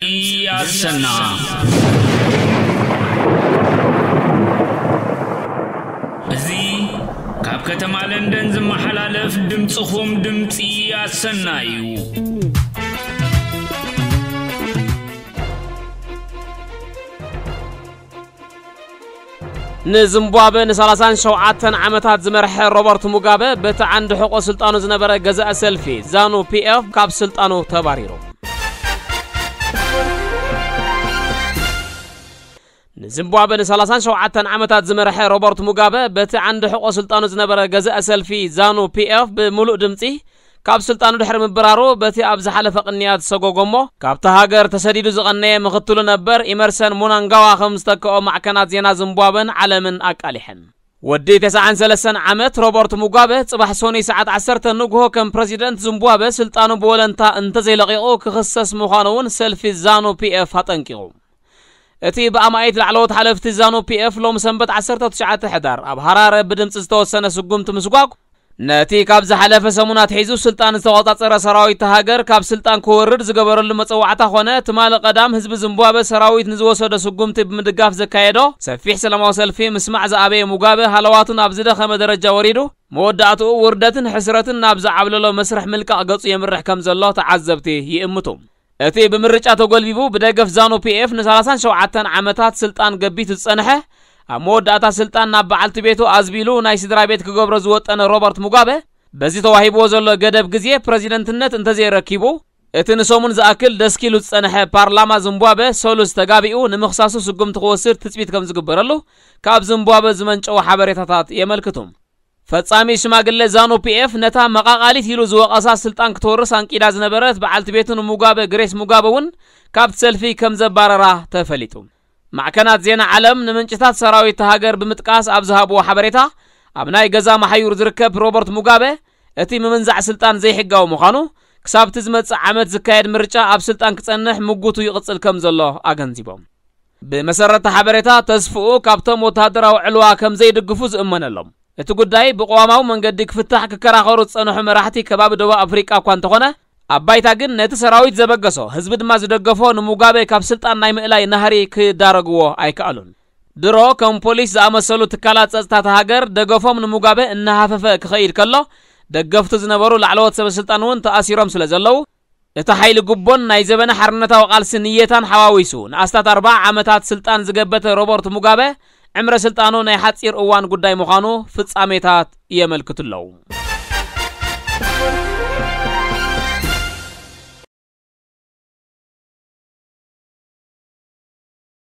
ኣሰና። እዚ ካብ ከተማ ለንደን ዝመሓላለፍ ድምጽኹም ድምጺ ኣሰና እዩ። ንዚምባብወ ን ሰላሳን ሸውዓተን ዓመታት ዝመርሐ ሮበርት ሙጋበ፣ በቲ ዓንዲ ሕቆ ስልጣኑ ዝነበረ ገዛኢ ሰልፊ ዛኑ ፒ ኤፍ ካብ ስልጣኑ ተባሪሩ። ንዚምባብወ ን ሰላሳን ሸውዓተን ዓመታት ዝመርሐ ሮበርት ሙጋበ፣ በቲ ዓንዲ ሕቆ ስልጣኑ ዝነበረ ገዛኢ ሰልፊ ዛኑ ፒ ኤፍ ብምሉእ ድምጺ ካብ ስልጣኑ ድሕሪ ምብራሩ፣ በቲ ኣብ ዝሓለፈ ቅንያት ዝሰጎጎ እሞ ካብታ ሃገር ተሰዲዱ ዝቐነየ ምኽትሉ ነበር ኢመርሰን ሙናንጋዋ ከም ዝተክኦ ማዕከናት ዜና ዝምቧበን ዓለምን ኣቃሊሐን። ወዲ ተስዓን ሰለስተን ዓመት ሮበርት ሙጋበ፣ ጽባሕ ሶኒ ሰዓት ዓሰርተ ንግሆ ከም ፕረዚደንት ዝምቧበ ስልጣኑ ብወለንታ እንተዘይለቒቑ ክኽሰስ ምዃኑ እውን ሰልፊ ዛኑ ፒ ኤፍ ኣጠንቂቑ። እቲ ብኣማኢት ላዕለዎት ሓለፍቲ ዛኑ ፒ ኤፍ ሎም ሰንበት ዓሰርተ ትሽዓተ ሕዳር ኣብ ሃራረ ብድምጺ ዝተወሰነ ስጉምቲ ምስጓግ፣ ነቲ ካብ ዝሓለፈ ሰሙን ኣትሒዙ ስልጣን ዝተቖጻጸረ ሰራዊት እታ ሃገር ካብ ስልጣን ክወርድ ዝገበረሉ መጸዋዕታ ኾነ፣ ትማሊ ቀዳም ህዝቢ ዝምቧበ ሰራዊት ንዝወሰዶ ስጉምቲ ብምድጋፍ ዘካየዶ ሰፊሕ ሰላማዊ ሰልፊ ምስማዕ ዝኣበየ ሙጋበ፣ ሃለዋቱ ናብ ዝደኸመ ደረጃ ወሪዱ፣ መወዳእትኡ ውርደትን ሕስረትን ናብ ዝዓብለሎ መስርሕ ምልቃቕ ገጹ የምርሕ ከም ዘሎ ተዓዘብቲ ይእምቱ። እቲ ብምርጫ ተጎልቢቡ ብደገፍ ዛኑ ፒ ኤፍ ን ሰላሳን ሸውዓተን ዓመታት ስልጣን ገቢቱ ዝጸንሐ፣ ኣብ መወዳእታ ስልጣን ናብ በዓልቲ ቤቱ ኣዝቢሉ ናይ ስድራ ቤት ክገብሮ ዝወጠነ ሮበርት ሙጋበ፣ በዚ ተዋሂብዎ ዘሎ ገደብ ግዜ ፕረዚደንትነት እንተዘይረኪቡ፣ እቲ ንሰሙን ዝኣክል ደስኪሉ ዝጸንሐ ፓርላማ ዝምቧበ ሰሉስ ተጋቢኡ ንምኽሳሱ ስጉምቲ ክወስድ ትጽቢት ከም ዝግበረሉ ካብ ዝምቧበ ዝመንጨዉ ሓበሬታታት የመልክቱ። ፈጻሚ ሽማግለ ዛኑ ፒ ኤፍ ነታ መቓቓሊት ኢሉ ዝወቐሳ ስልጣን ክትወርስ ኣንቂዳ ዝነበረት በዓልቲ ቤቱ ንሙጋበ ግሬስ ሙጋበ እውን ካብቲ ሰልፊ ከም ዘባረራ ተፈሊጡ። ማዕከናት ዜና ዓለም ንምንጭታት ሰራዊት እታ ሃገር ብምጥቃስ ኣብ ዝሃብዎ ሓበሬታ፣ ኣብ ናይ ገዛ መሓዩር ዝርከብ ሮበርት ሙጋበ፣ እቲ ምምንዛዕ ስልጣን ዘይሕጋዊ ምዃኑ፣ ክሳብቲ ዝመጽእ ዓመት ዝካየድ ምርጫ ኣብ ስልጣን ክጸንሕ ምጉቱ ይቕጽል ከም ዘሎ ኣገንዚቦም። ብመሰረት ሓበሬታ፣ ተስፍኡ ካብቶም ወተሃደራዊ ዕልዋ ከም ዘይድግፉ ዝእመነሎም፣ እቲ ጉዳይ ብቅዋማዊ መንገዲ ክፍታሕ ክከራኸሩ ዝጸንሑ መራሕቲ ከባቢ ደቡብ ኣፍሪቃ እኳ እንተኾነ፣ ኣብ ባይታ ግን ነቲ ሰራዊት ዘበገሶ፣ ህዝቢ ድማ ዝደገፎ ንሙጋበ ካብ ስልጣን ናይ ምእላይ ናህሪ ክዳረግዎ ኣይከኣሉን። ድሮ ከም ፖሊስ ዝኣመሰሉ ትካላት ጸጥታ እታ ሃገር ደገፎም ንሙጋበ እናሃፈፈ ክኸይድ ከሎ፣ ደገፍቱ ዝነበሩ ላዕለዎት ሰበ ስልጣን እውን ተኣሲሮም ስለ ዘለዉ፣ እቲ ሓይሊ ጉቦን ናይ ዘበነ ሓርነታዊ ቃልሲ ንየታን ሓዋዊሱ ንኣስታት ኣርብዓ ዓመታት ስልጣን ዝገበተ ሮበርት ሙጋበ፣ ዕምረ ስልጣኑ ናይ ሓጺር እዋን ጉዳይ ምዃኑ ፍጻሜታት የመልክቱ ኣለዉ።